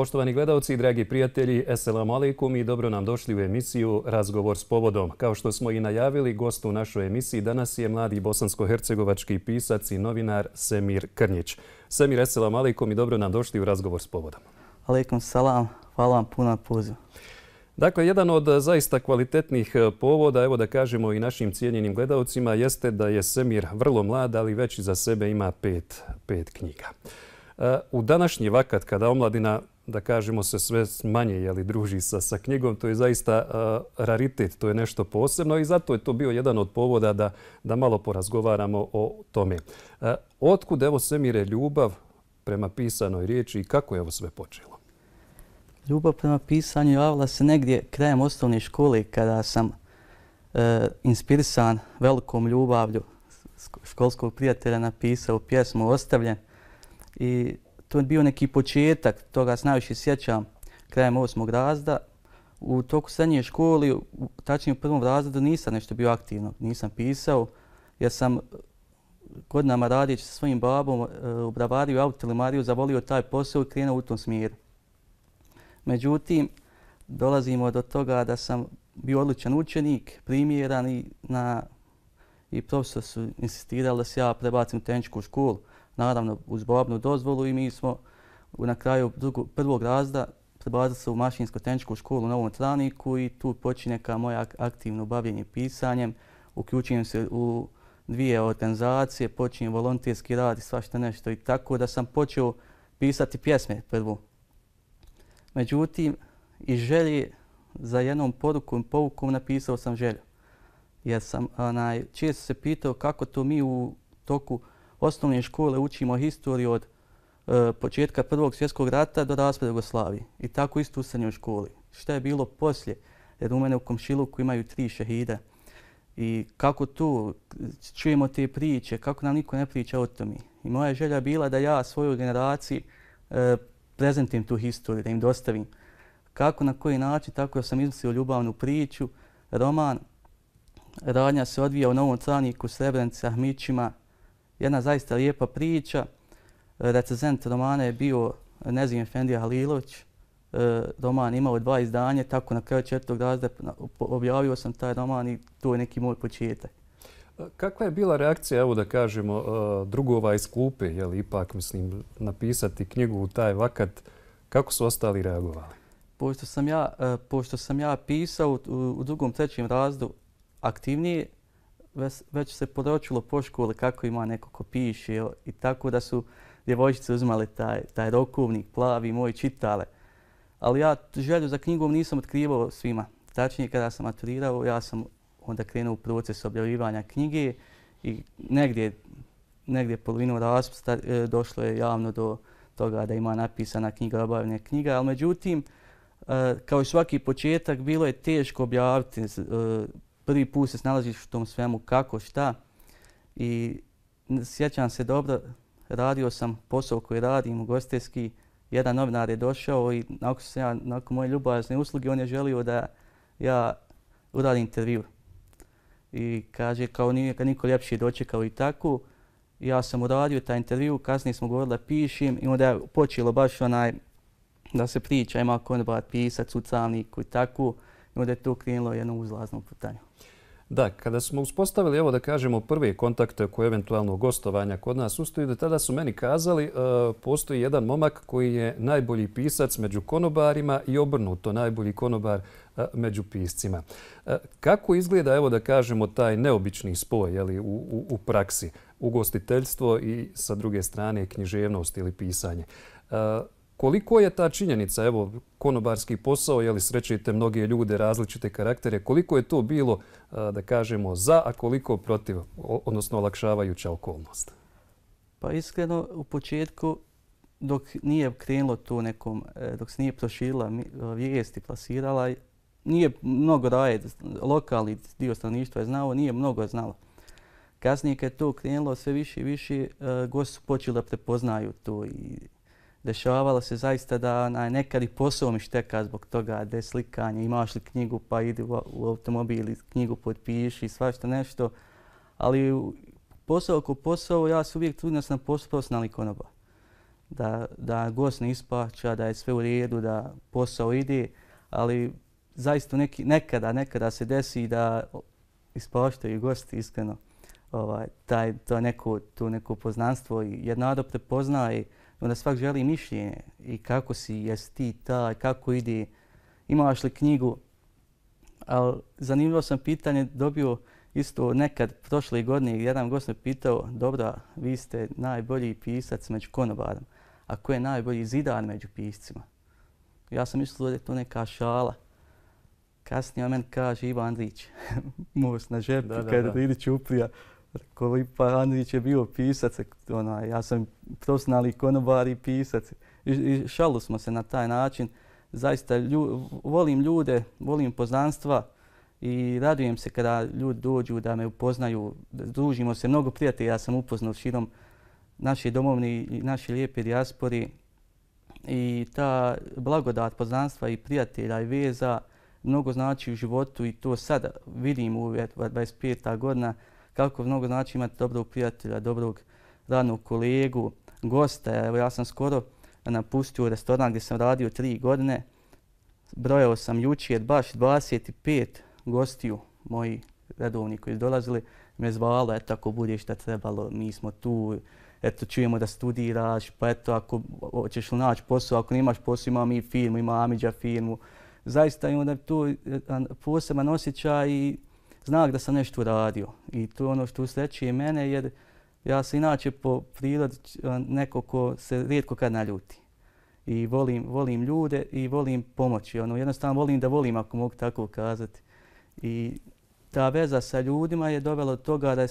Poštovani gledalci i dragi prijatelji, Esselamu alaikum i dobro nam došli u emisiju Razgovor s povodom. Kao što smo i najavili, gost u našoj emisiji danas je mladi bosansko-hercegovački pisac i novinar Semir Krnjić. Semir, Esselamu alaikum i dobro nam došli u Razgovor s povodom. Alaikum salam, hvala vam puno na pozivu. Dakle, jedan od zaista kvalitetnih povoda, evo da kažemo i našim cijenjenim gledalcima, jeste da je Semir vrlo mlad, ali već iza sebe ima pet knjiga. U današnji vakat, kada omladina, da kažemo, se sve manje druži sa knjigom, to je zaista raritet, to je nešto posebno i zato je to bio jedan od povoda da malo porazgovaramo o tome. Otkud, evo Semire, ljubav prema pisanoj riječi i kako je ovo sve počelo? Ljubav prema pisanju javila se negdje krajem osnovne škole kada sam inspirisan velikom ljubavlju školskog prijatelja napisao pjesmu Ostavljen. I to je bio neki početak, toga se najviše sjećam krajem 8. razreda. U toku srednje škole, tačnije u 1. razredu, nisam nešto bio aktivno, nisam pisao jer sam godinama radijeći sa svojim babom u bravariju i autolimariju zavolio taj posao i krenuo u tom smjeru. Međutim, dolazimo do toga da sam bio odličan učenik, primjeran i profesor su insistirali da se ja prebacim u tehničku školu. Naravno, uz babnu dozvolu i mi smo na kraju 1. razreda prebacili se u mašinsko-tehničku školu u Novom Travniku i tu počinje kao moje aktivno bavljenje pisanjem. Uključujem se u 2 organizacije, počinjem volonterski rad i svašta nešto i tako da sam počeo pisati pjesme prvo. Međutim, iz želje za jednom porukom i povukom napisao sam želju. Jer sam često se pitao kako to mi u toku osnovne škole učimo historiju od početka 1. svjetskog rata do raspada Jugoslavije. I tako isto u srednjoj školi. Šta je bilo poslije? Jer u mene u komšiluku imaju 3 šehida. I kako tu čujemo te priče, kako nam niko ne priča o tome. I moja želja je bila da ja svojoj generaciji prezentujem tu historiju, da im dostavim. Kako, na koji način, tako da sam izmislio ljubavnu priču, roman. Radnja se odvija u Novom Travniku, Srebrenici, Ahmićima. Jedna zaista lijepa priča. Recenzent romana je bio Nezim Efendija Halilović. Roman imao 2 izdanja, tako na kraju 4. razreda objavio sam taj roman i to je neki moj početak. Kakva je bila reakcija, evo da kažemo, drugova iz klupe, ipak, mislim, napisati knjigu u taj vakat, kako su ostali reagovali? Pošto sam ja pisao u 2. 3. razredu aktivnije, već se podočilo po školi kako ima neko ko piše i tako da su djevojčice uzimale taj rokovnik plavi moj čitale. Ali ja želju za knjigom nisam otkrivao svima. Tačnije kada sam maturirao, ja sam onda krenuo u proces objavljivanja knjige i negdje polovinu raspusta došlo je javno do toga da ima napisana knjiga, objavljena knjiga. Ali međutim, kao i svaki početak, bilo je teško objaviti. Prvi put se snalaziš u tom svemu kako, šta. I sjećam se dobro, radio sam posao koji radim, ugostiteljski. Jedan novinar je došao i nakon moje ljubazne usluge on je želio da ja uradim intervju. I kaže kao nije niko ljepši dočekao i tako. Ja sam uradio taj intervju, kasnije smo govorili da pišem i onda je počelo baš da se priča, ima konobar pisac u Travniku i tako. I onda je to krenulo jednom uzlaznom putanju. Da, kada smo uspostavili, evo da kažemo, prve kontakte oko eventualnog gostovanja kod nas u studiju, tada su meni kazali postoji jedan momak koji je najbolji pisac među konobarima i obrnuto, najbolji konobar među piscima. Kako izgleda, evo da kažemo, taj neobični spoj u praksi, ugostiteljstvo i sa druge strane književnost ili pisanje? Koliko je ta činjenica, evo, konobarski posao, srećete mnoge ljude, različite karaktere, koliko je to bilo, da kažemo, za, a koliko protiv, odnosno olakšavajuća okolnost? Pa iskreno, u početku, dok nije krenulo to nekom, dok se nije proširila vijesti, plasirala, nije mnogo lokalni dio stanovništva je znao, nije mnogo znalo. Kasnije kad je to krenulo sve više i više, gosti su počeli da prepoznaju to i dešavalo se zaista da nekad i posao mi šteka zbog toga da je slikanje, imaš li knjigu pa idi u automobil i knjigu potpiši, svašta nešto. Ali posao ko posao, ja se uvijek trudim da sam profesionalni konobar. da gost ne ispaća, da je sve u redu, da posao ide, ali zaista nekada se desi da ispaštaju gosti iskreno. To neko poznanstvo jer narod prepoznaje, onda svak želi mišljenje i kako si, jesi ti taj, kako ide, imaš li knjigu. Ali zanimljivo sam pitanje dobio isto nekad prošle godine, jedan gost me pitao, dobra, vi ste najbolji pisac među konobarom, a ko je najbolji zidar među piscima? Ja sam mislio da je to neka šala. Kasnije on meni kaže Ivo Andrić, most na žepu, kada idi Ćuprija. Pa Andrić je bio pisac, ja sam profesionalni konobar i pisac. I šalu smo se na taj način. Zaista volim ljude, volim poznanstva i radujem se kada ljudi dođu da me upoznaju. Družimo se, mnogo prijatelja ja sam upoznao širom naše domovine i naše lijepe dijaspori. I ta blagodat poznanstva i prijatelja i veza mnogo znači u životu i to sada vidim u 25. godina kako mnogo znači imati dobrog prijatelja, dobrog radnog kolegu, gosta. Evo ja sam skoro napustio restoran gdje sam radio 3 godine. Brojao sam jučer baš 25 gostiju moji redovni koji su dolazili. Me zvalo, eto ako bude šta trebalo, mi smo tu, eto čujemo da studiraš, pa eto ako hoćeš li naći posao, ako nemaš posao ima mi firmu, ima Amidža firmu. Zaista imam da tu poseban osjećaj i znak da sam nešto uradio. I to je ono što usrećuje mene jer ja sam inače po prirodi neko ko se rijetko kad naljuti. I volim ljude i volim pomoći. Jednostavno volim da volim, ako mogu tako kazati. I ta veza sa ljudima je dovela do toga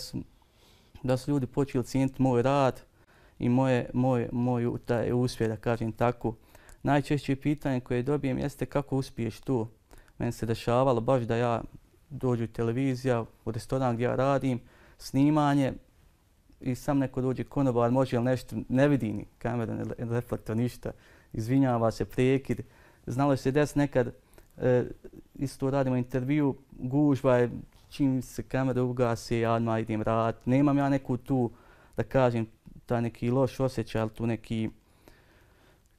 da su ljudi počeli cijeniti moj rad i moj taj uspjeh, da kažem tako. Najčešće pitanje koje dobijem jeste kako uspiješ tu. Meni se dešavalo baš da ja dođu televizija, u restoran gdje ja radim, snimanje i sam neko dođe konobar, može li nešto, ne vidi ni kamera, ne reflektor, ništa. Izvinjava se, prekid. Znalo se des nekad, isto radimo intervju, gužva je, čim se kamera ugasi, ja odmah idem raditi. Nemam ja neku tu, da kažem, taj neki loš osjećaj, ali tu neki,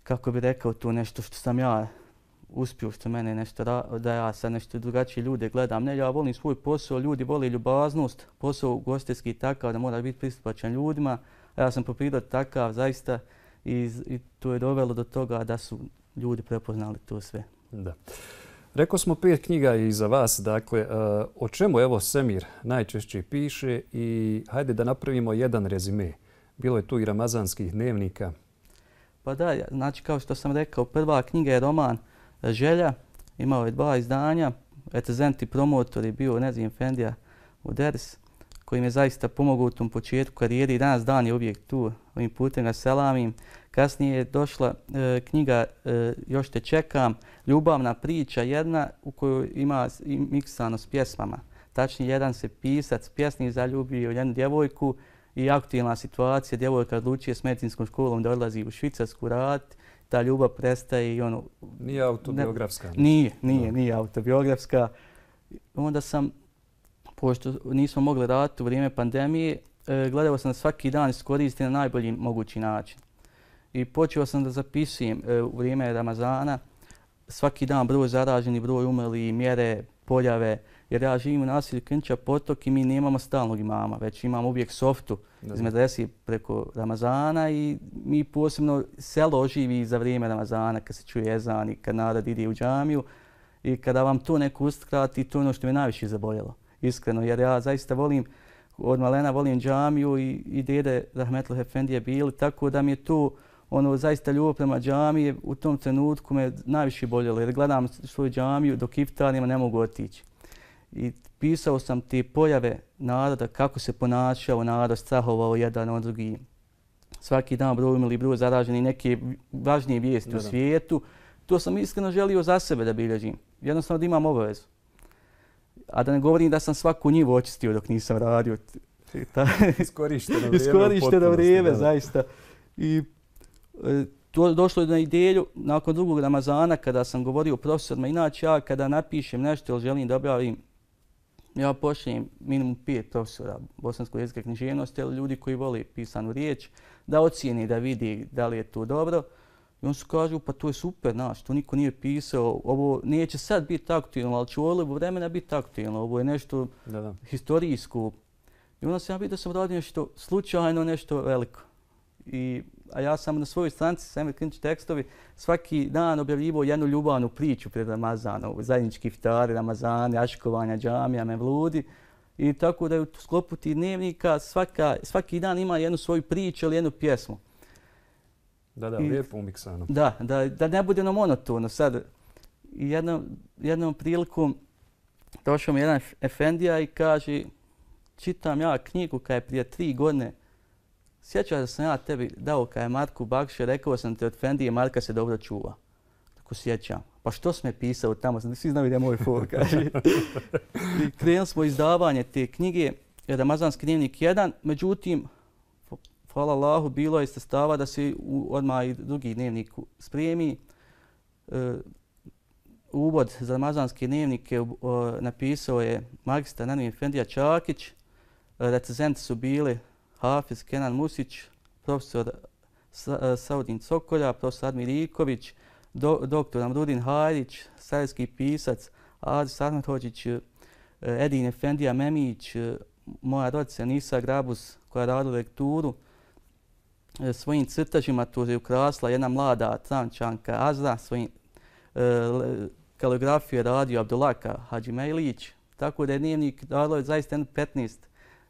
kako bi rekao, tu nešto što sam ja uspio, što mene nešto, da ja sad nešto drugačije ljude gledam. Ne, ja volim svoj posao, ljudi vole ljubaznost, posao ugostiteljski takav da mora biti pristupačan ljudima. A ja sam po prirodi takav zaista i to je dovelo do toga da su ljudi prepoznali to sve. Da. Rekao smo 5 knjiga i za vas, dakle, o čemu evo Semir najčešće piše i hajde da napravimo jedan rezime. Bilo je tu i ramazanskih dnevnika. Pa da, znači kao što sam rekao, prva knjiga je roman Želja, imao je 2 izdanja, recenzent i promotor je bio Nezim Efendija Uderis, koji mi je zaista pomogao u tom početku karijeri i danas dan je uvijek tu, ovim putem ga selamim. Kasnije je došla knjiga Još te čekam, ljubavna priča jedna u kojoj ima miksano s pjesmama. Tačnije, jedan se pisac, pjesnik zaljubio jednu djevojku i aktualna situacija, djevojka odlučuje s medicinskom školom da odlazi u Švicarsku raditi. Ta ljubav prestaje i ono... Nije autobiografska? Nije autobiografska. Onda sam, pošto nismo mogli raditi u vrijeme pandemije, gledao sam da svaki dan iskoristim na najbolji mogući način. I počeo sam da zapisujem u vrijeme Ramazana svaki dan broj zaraženi, broj umrli, mjere, pojave. Jer ja živim u naselju Krnča Potok i mi nemamo stalnog imama, već imamo uvijek softu iz medrese preko Ramazana i mi posebno selo oživi za vrijeme Ramazana kad se čuje ezan i kad narod ide u džamiju. I kada vam to neko uskrati, to je ono što me najviše zaboljelo. Iskreno, jer ja zaista volim, od malena volim džamiju i dede Rahmetli Efendije bili, tako da mi je to zaista ljubav prema džamiji u tom trenutku me najviše boljelo jer gledam svoju džamiju dok iftarima ne mogu otići. I pisao sam te pojave naroda, kako se ponašao narod, strahovao jedan od drugih. Svaki dan broj umrli, broj zaraženi, neke važnije vijesti u svijetu. To sam iskreno želio za sebe da bilježim. Jednostavno da imam obavezu. A da ne govorim da sam svaku njivu očistio dok nisam radio. Iskorišteno vrijeme, zaista. I došlo je na ideju nakon drugog Ramazana kada sam govorio profesorima. Inače ja kada napišem nešto ili želim da objavim ja pošaljem minimum 5 profesora bosanskog jezika i književnosti, ali ljudi koji vole pisanu riječ, da ocijeni, da vidi da li je to dobro. I on su kažu, pa to je super, znaš, to niko nije pisao, ovo neće sad biti aktualno, ali će u ovo vremena biti aktualno, ovo je nešto historijsko. I onda sam ja vidio da sam radio nešto slučajno, nešto veliko. A ja sam na svojoj stranici Semir Krnić tekstovi svaki dan objavljivao jednu ljubavnu priču pred Ramazanom, zajednički iftari, Ramazani, aškovanja, džamija, mevludi. I tako da je u sklopu tih dnevnika svaki dan ima jednu svoju priču ili jednu pjesmu. Da, lijepo umiksano. Da ne bude monotono. Sad, jednom prilikom došao mi jedan efendija i kaže, čitam ja knjigu koja je prije 3 godine. Sjećaš da sam ja tebi dao kada je Marku Bakše, rekao sam te od Efendije, Marka se dobro čuva. Tako sjećam. Pa što si me pisao tamo? Svi znaju da je moj for, kaže. I krenuli smo izdavanje te knjige, Ramazanski dnevnik 1, međutim, hvala Allahu, bilo je sredstava da se odmah i drugi dnevnik spremi. Uvod za Ramazanski dnevnik napisao je magistar Nenad Efendija Čakić. Recenzenti su bili Hafiz Kenan Musić, profesor Saudin Cokolja, profesor Admir Iković, doktor Amrudin Hajrić, sarajevski pisac Adis Ahmedhođić, Edin Efendija Memić, moja rodica Nisa Grabus koja radila lekturu. Svojim crtažima tu je ukrasla jedna mlada Trančanka Azra, svojim kaligrafiju je radio Abdulaka Hadžimejlić, tako da je dnevnik radilo zaista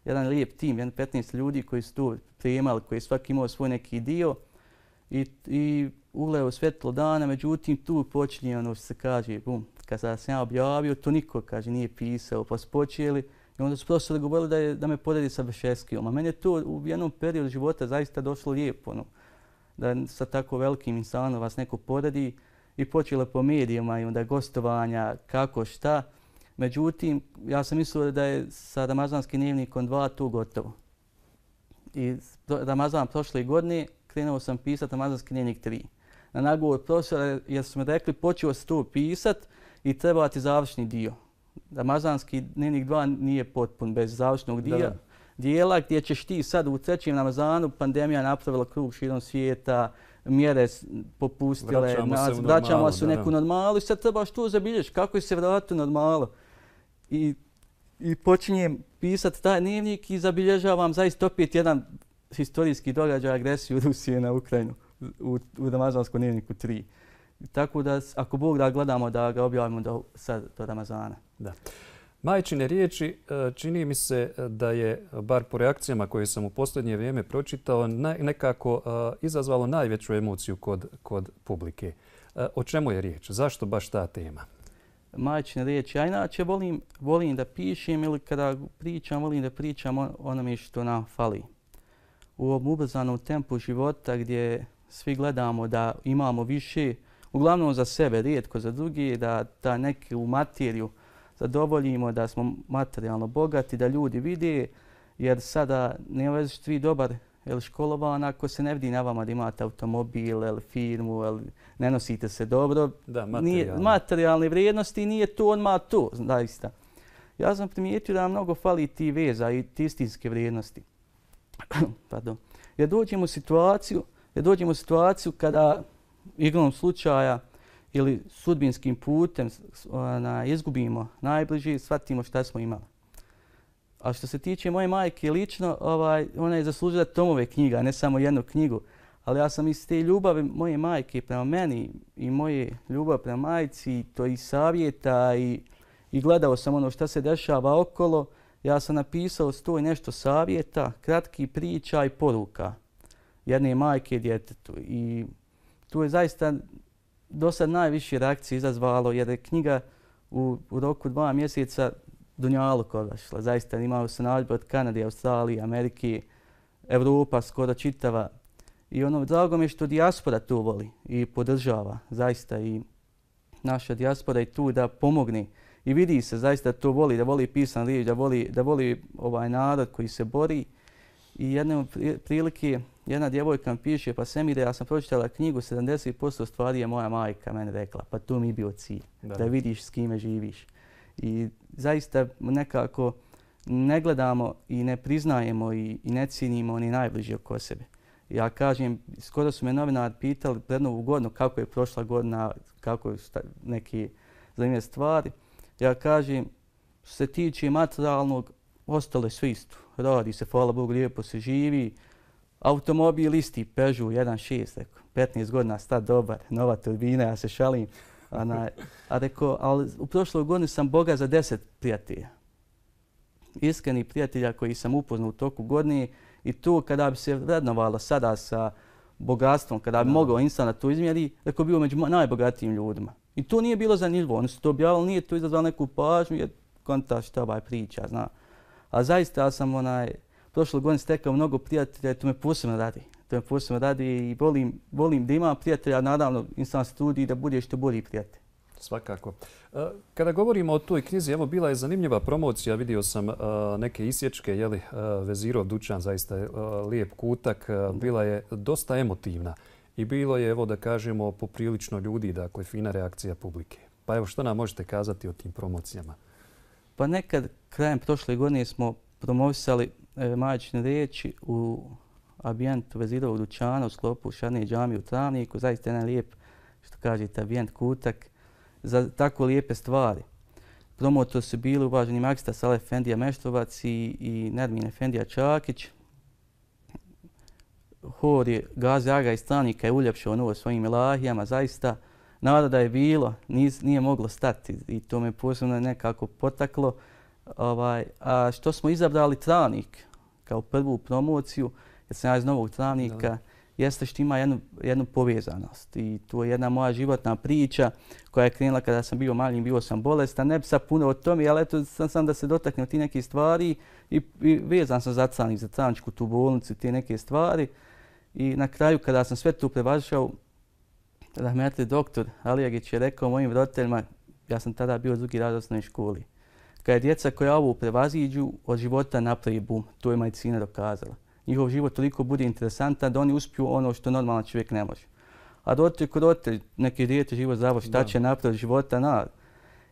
jedan lijep tim, 15 ljudi koji su tu pripremali, koji svaki imao svoj neki dio i ugleo svjetlo dana, međutim tu počinje ono što se kaže, kad sam ja objavio, to niko kaže nije pisao, pa su počeli i onda su profesori govorili da me poredi sa Bešeskijom, a meni je to u jednom periodu života zaista došlo lijepo, da sa tako velikim insanom vas neko poredi i počelo po medijima i onda gostovanja, kako, šta. Međutim, ja sam mislio da je sa Ramazanskim dnevnikom 2 tu gotovo. I Ramazan prošle godine krenuo sam pisati Ramazanski dnevnik 3. Na nagovor profesora jer su mi rekli počeo se tu pisat i treba ti završni dio. Ramazanski dnevnik 2 nije potpun bez završnog dijela gdje ćeš ti sad u 3. Ramazanu, pandemija napravila krug širom svijeta, mjere popustile, vraćamo se u neku normalu i sad trebaš tu zabilježiti kako se vratiti u normalu. I počinjem pisati taj dnevnik i zabilježavam zaista opet jedan historijski događaj, agresiju Rusije na Ukrajinu u Ramazanskom dnevniku 3. Tako da, ako Bog da gledamo da ga objavimo do Ramazana. Da. Majčine riječi čini mi se da je, bar po reakcijama koje sam u posljednje vrijeme pročitao, nekako izazvalo najveću emociju kod publike. O čemu je riječ? Zašto baš ta tema? Majčine riječi. Ja inače volim da pišem ili kada pričam, volim da pričam onome što nam fali. U ovom ubrzanom tempu života gdje svi gledamo da imamo više, uglavnom za sebe, rijetko za drugi, da neku materiju zadovoljimo, da smo materijalno bogati, da ljudi vide, jer sada ne već ti dobar ili školovan ako se ne vidi na vama da imate automobil ili firmu ili ne nosite se dobro. Da, materijalne vrijednosti nije to odmah to, zaista. Ja sam primijetio da mnogo fali ti veza i ti istinske vrijednosti. Pardon. Jer dođemo u situaciju kada igrom slučaja ili sudbinskim putem izgubimo najbliži, shvatimo šta smo imali. A što se tiče moje majke lično, ona je zaslužila tomove knjiga, ne samo jednu knjigu. Ali ja sam iz te ljubavi moje majke prema meni i moje ljubav prema majci, to i savjeta i gledao sam ono šta se dešava okolo. Ja sam napisao 100 i nešto savjeta, kratki priča i poruka jedne majke djetetu. I tu je zaista do sad najviše reakcije izazvalo jer je knjiga u roku 2 mjeseca dunjaluk odašla. Zaista imao se naredbe od Kanade, Australije, Amerike, Evropa skoro čitava. I drago mi je što dijaspora to voli i podržava. Zaista i naša dijaspora je tu da pomogne. I vidi se zaista to voli, da voli pisan riječ, da voli ovaj narod koji se bori. I jedne prilike jedna djevojka mi piše, pa Semire, ja sam pročitala knjigu, 70% stvari je moja majka meni rekla, pa to mi je bio cilj, da vidiš s kime živiš. I zaista nekako ne gledamo i ne priznajemo i ne cijenimo ni najbliži oko sebe. Ja kažem, skoro su me novinari pitali pred Novu godinu kako je prošla godina, kako je neke zanimljive stvari. Ja kažem, što se tiče materijalnog, ostalo je sve isto. Radi se, hvala Bogu, lijepo se živi. Automobil isti, Peugeot 1.6, 15 godina, star dobar, nova turbina, ja se šalim. A rekao, ali u prošloj godini sam bogat za 10 prijatelja. Iskreni prijatelja koji sam upoznao u toku godine i to kada bi se vrednovalo sada sa bogatstvom, kada bi mogao insan na to izmjeri, rekao bio među najbogatijim ljudima. I to nije bilo zanimljivo, oni su to objavili, nije to izazvalo neku pažnju, jer konta šta ovaj priča, zna. A zaista ja sam prošle godine stekao mnogo prijatelja i to me posebno radi. To me posebno radi i volim da imam prijatelja, naravno insan se trudi da bude što bolji prijatelj. Svakako. Kada govorimo o toj knjizi, evo bila je zanimljiva promocija, vidio sam neke isječke, jeli, Vezirov dućan, zaista je lijep kutak, bila je dosta emotivna i bilo je, evo da kažemo, poprilično ljudi, dakle, fina reakcija publike. Pa evo, što nam možete kazati o tim promocijama? Pa nekad, krajem prošle godine smo promovisali majčine riječi u ambijentu Vezirovog dućana u sklopu Šarne džamije u Travniku, zaista jedan lijep, što kažete, ambijent kutak, za tako lijepe stvari. Promotor su bili uvaženi magistar Saleh Efendija Meštrovac i Nermin Efendija Čakić. Hor je Gazi Aga iz Travnika je uljepšao novo svojim ilahijama, zaista naroda je bilo, nije moglo stati i to me posebno nekako potaklo. A što smo izabrali Travnik kao prvu promociju, jer sam ja iz Novog Travnika, jeste što ima jednu povezanost i to je jedna moja životna priča koja je krenula kada sam bio mali, bio sam bolestan, ne bi sad puno o tome, ali eto sam da se dotaknem ti neke stvari i vezan sam za Travnik, za Travničku tu bolnicu, te neke stvari i na kraju kada sam sve to prevažao, rahmetli doktor Alijagić je rekao mojim roditeljima, ja sam tada bio drugi razred osnovne školi, kada je djeca koja ovo prevaziđu, od života napravi bum, to je medicina dokazala. Njihov život toliko bude interesantan da oni uspiju ono što normalan čovjek ne može. A roditelj, neki dijete život zdravo, šta će napraviti života,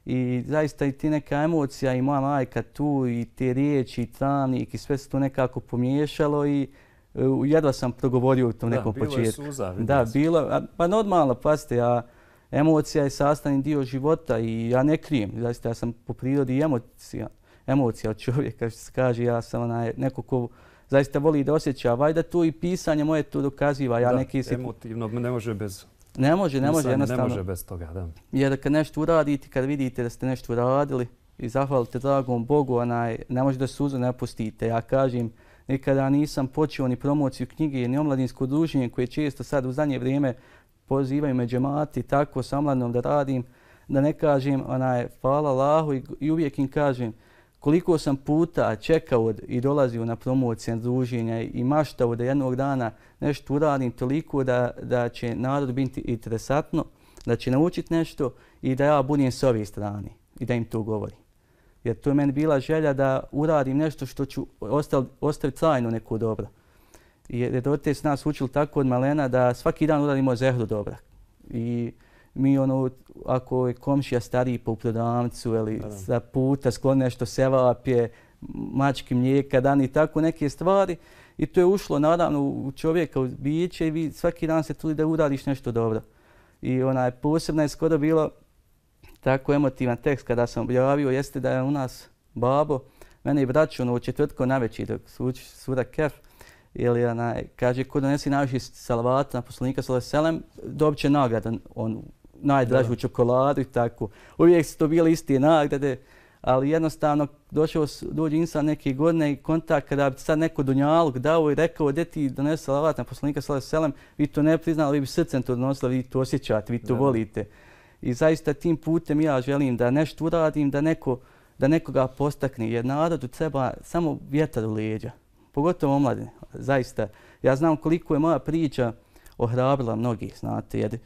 I zaista i ti neka emocija i moja majka tu i te riječi i Travnik i sve se to nekako pomiješalo i jedva sam progovorio u tom nekom početku. Bilo je suza. Da, bilo. Pa normalno, pazite, emocija je sastavni dio života i ja ne krijem. Zaista ja sam po prirodi emocija od čovjeka, što se kaže, ja sam neko ko zaista voli da osjeća. Vajda tu i pisanje moje to dokaziva. Emotivno ne može bez... Ne može jednostavno. Ne može bez toga, da. Jer kad nešto uradite, kad vidite da ste nešto uradili i zahvalite dragom Bogu, ne može da suzu ne pustite. Ja kažem, nikada nisam počeo ni promociju knjige, ni omladinsko druženje koje često sad u zadnje vrijeme pozivaju me džemati, tako sa omladinom da radim, da ne kažem hvala Allahu i uvijek im kažem koliko sam puta čekao i dolazio na promocije druženja i maštao da jednog dana nešto uradim toliko da će narod biti interesantno, da će naučiti nešto i da ja budem s ove strane i da im to govorim. Jer to je meni bila želja da uradim nešto što ću ostaviti trajno neko dobro. Jer roditelji su nas učili tako od malena da svaki dan uradimo zehru dobra. I mi ako je komšija stariji po prodavnicu ili za puta skloni nešto sevapje, mački mlijeka, dan i tako neke stvari. I to je ušlo naravno u čovjeka, u biće i vi svaki dan se trudi da uradiš nešto dobro. I posebno je skoro bilo tako emotivan tekst kada sam objavio, jeste da je u nas babo, mene i braću u četvrtko navečer dok su uči sura Kef, ili kaže ko donesi najviše salavata na poslanika sallallahu alejhi ve sellem, dobit će nagradu, najdražu čokoladu i tako. Uvijek su to bile iste nagrade, ali jednostavno dođe insan neke godine i kontakt kada bi sad neko dunjaluk dao i rekao gdje ti donesi salavat na poslanika sallallahu alejhi ve sellem, vi to ne priznali, vi bi srcem to donosili, vi to osjećate, vi to volite. I zaista tim putem ja želim da nešto uradim, da nekoga postakne, jer narodu treba samo vjetar u leđa, pogotovo omladine. Zaista, ja znam koliko je moja priča ohrabrila mnogih, znate, jer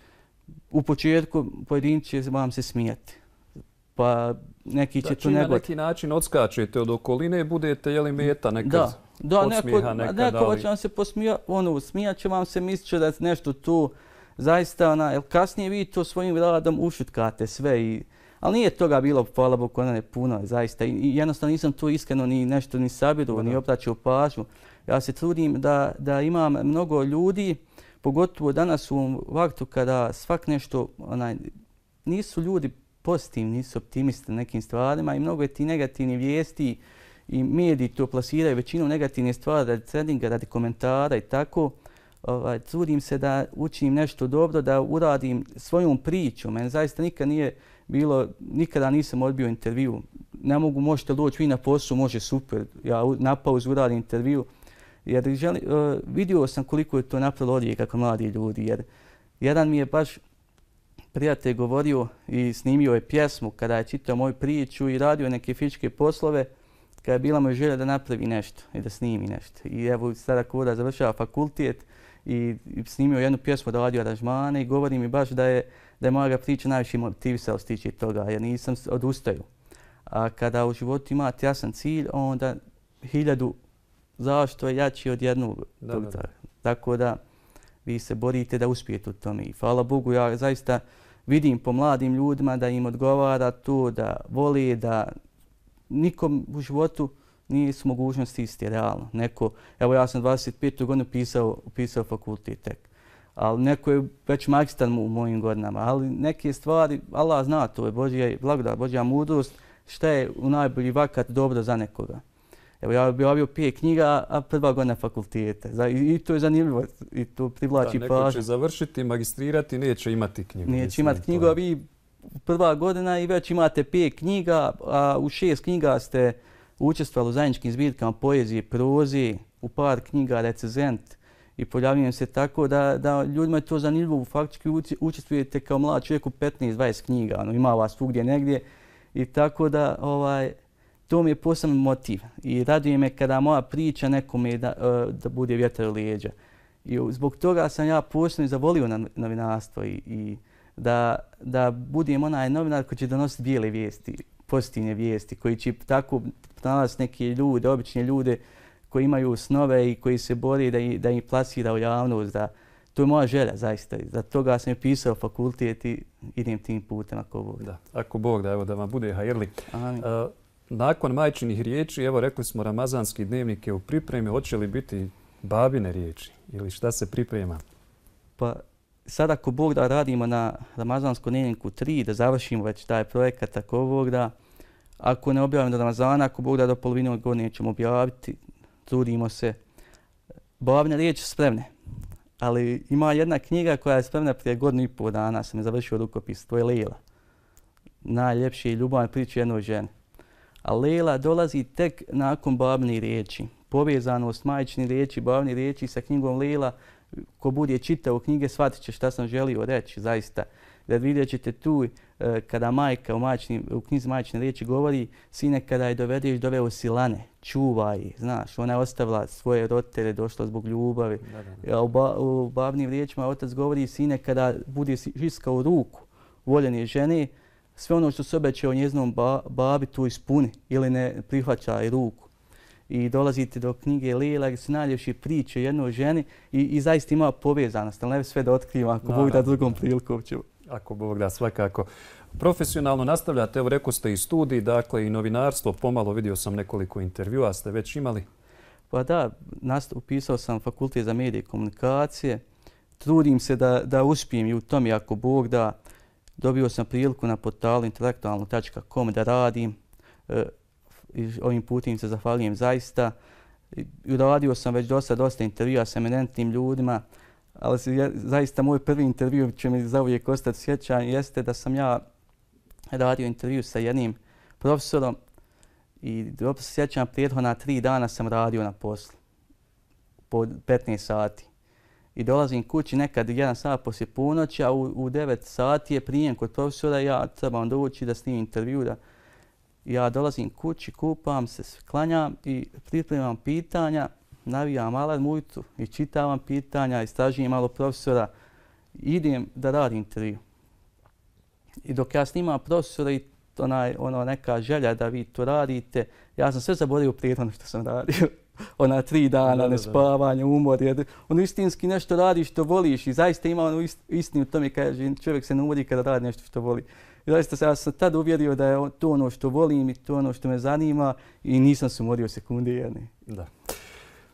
u početku pojedinci će vam se smijati, pa neki će tu na neki način odskačete od okoline, budete jeli meta nekad podsmijeha nekad. Neko će vam se smijat će vam se, mislit će da je nešto tu. Zaista, kasnije vi to svojim radom ušutkate sve, Ali nije toga bilo, hvala Bogu, puno, zaista. I jednostavno nisam tu iskreno ni nešto ni sabiru, ni obraćao pažnju. Ja se trudim da imam mnogo ljudi, pogotovo danas u ovom vaktu kada svak nešto, nisu ljudi pozitivni, nisu optimisti na nekim stvarima i mnogo je ti negativni vijesti i mediji to plasiraju većinom negativne stvari radi trendinga, radi komentara i tako. Trudim se da učim nešto dobro, da uradim svojom pričom. Meni zaista nikad nije bilo, nikada nisam odbio intervju. Ne mogu, možete doći vi na posao, može super. Ja na pauzu uradim intervju. Jer vidio sam koliko je to napravilo odjeka kod mladi ljudi. Jer jedan mi je baš prijatelj govorio i snimio je pjesmu kada je čitao moju priču i radio neke fizičke poslove, kada je bila moja želja da napravi nešto i da snimi nešto. I evo sada kada završava fakultet i snimio jednu pjesmu, radio aranžmane i govori mi baš da je moja priča najviše motivisala stići toga, jer nisam odustaju. A kada u životu imate jasan cilj, onda 1000 zašto je jači od jednog. Tako da vi se borite da uspijete u tome. I hvala Bogu, ja zaista vidim po mladim ljudima da im odgovara to, da voli, da nikom u životu nisu mogućnosti isti, realno. Neko, evo ja sam 25. godinu upisao fakultet tek, ali neko je već magistar u mojim godinama, ali neke stvari, Allah zna, to je Božja blagodat, Božja mudrost, šta je u najbolji vakat dobro za nekoga. Evo ja objavio 5 knjiga, a prva godina fakulteta. I to je zanimljivo i to privlači pažnju. Neko će završiti, magistrirati, neće imati knjigu. Neće imati knjigu, a vi prva godina i već imate 5 knjiga, a u 6 knjiga ste učestvovali u zajedničkim zbirkama poezije, proze, u par knjiga recenzent i pojavljujem se tako da ljudima je to zanimljivo. Faktički učestvujete kao mlad čovjek u 15-20 knjiga, ima vas svugdje negdje i tako da to mi je poseban motiv i raduje me kada moja priča nekome da bude vjetar u leđa. I zbog toga sam ja posebno zavolio novinarstvo i da budem onaj novinar koji će donositi bijele vijesti, pozitivne vijesti, koji će tako pronalaziti neke ljude, obične ljude koji imaju snove i koji se bore da ih plasira u javnost. To je moja želja, zaista. Za toga sam je pisao fakultet i idem tim putem ako Bog. Da, ako Bog da, evo da vam bude hajrli. Nakon majčinih riječi, evo rekli smo ramazanski dnevnik je u pripremi, hoće li biti babine riječi ili šta se priprema? Pa sad ako Bog da radimo na ramazanskom dnevniku 3, da završimo već taj projekat, ako Bog da, ako ne objavimo do Ramazana, ako Bog da do polovine godine ćemo objaviti, trudimo se. Babine riječi spremne, ali ima jedna knjiga koja je spremna prije 1,5 godina, sam je završio rukopis, to je Lejla. Najljepše i ljubavne priče jednoj ženi. A Lejla dolazi tek nakon babnih riječi. Povezanost majčinih riječi, babnih riječi sa knjigom Lejla, ko bude čitao knjige shvatit će šta sam želio reći, zaista. Da vidjet ćete tu kada majka u knjizi majčine riječi govori, sine kada je dovedeš doveo si lane, čuvaj, znaš, ona je ostavila svoje roditelje, došla zbog ljubavi. U babnim riječima otac govori, sine kada bude žiskao ruku voljene žene, sve ono što se obećao njezinom babi tu ispuni ili ne prihvaća ruku. I dolazite do knjige Lejla gdje su najljepše priče jednoj ženi i zaista ima povezanost, ali ne sve da otkrivam ako Bog da drugom prilikom ću. Ako Bog da, svakako. Profesionalno nastavljate, evo rekao ste i studij, dakle i novinarstvo, pomalo vidio sam nekoliko intervjua, ste već imali? Pa da, upisao sam fakultet za medije i komunikacije, trudim se da uspijem i u tom ako Bog da. Dobio sam priliku na portalu intelektualno.com da radim. Ovim putem se zahvaljujem zaista. Radio sam već dosta intervjua s eminentnim ljudima, ali zaista moj prvi intervju će mi zauvijek ostati sjećan jeste da sam ja radio intervju sa jednim profesorom i dobro se sjećam, prethodna 3 dana sam radio na poslu po 15 sati. I dolazim kući nekad 1 sat poslije ponoći, a u 9 sati je prijem kod profesora i ja trebam doći da snimim intervju. Ja dolazim kući, kupam se, klanjam i pripremam pitanja, navijam alarm ujutru i čitavam pitanja, istražujem malo profesora i idem da radim intervju. I dok ja snimam profesora i neka želja da vi to radite, ja sam sve zaboravio prethodno što sam radio. 3 dana, nespavanje, umor, jer istinski nešto radiš što voliš i zaista ima istinu u tome, kaže čovjek se ne umori kada radi nešto što voli. I zaista ja sam tad uvjerio da je to ono što volim i to ono što me zanima i nisam se umorio sekunde jedne. Da.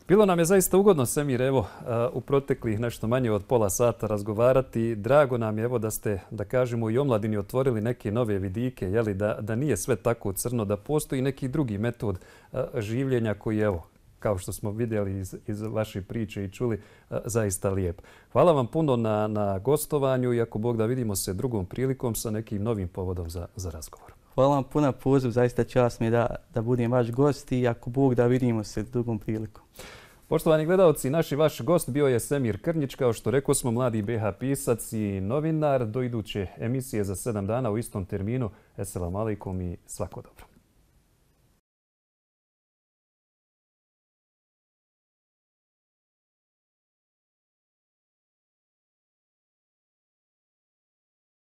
Bilo nam je zaista ugodno, Semir, evo, u proteklih nešto manje od pola sata razgovarati. Drago nam je, evo, da ste, da kažemo, i omladini otvorili neke nove vidike, jeli, da nije sve tako crno, da postoji neki drugi metod življenja koji, evo, kao što smo vidjeli iz vaše priče i čuli, zaista lijep. Hvala vam puno na gostovanju i ako Bog da vidimo se drugom prilikom sa nekim novim povodom za razgovor. Hvala vam puno poziv, zaista čast mi je da budem vaš gost i ako Bog da vidimo se drugom prilikom. Poštovani gledalci, naš i vaš gost bio je Semir Krnjić, kao što rekao smo, mladi BH pisac i novinar. Do iduće emisije za 7 dana u istom terminu. Esselamu alaikum i svako dobro.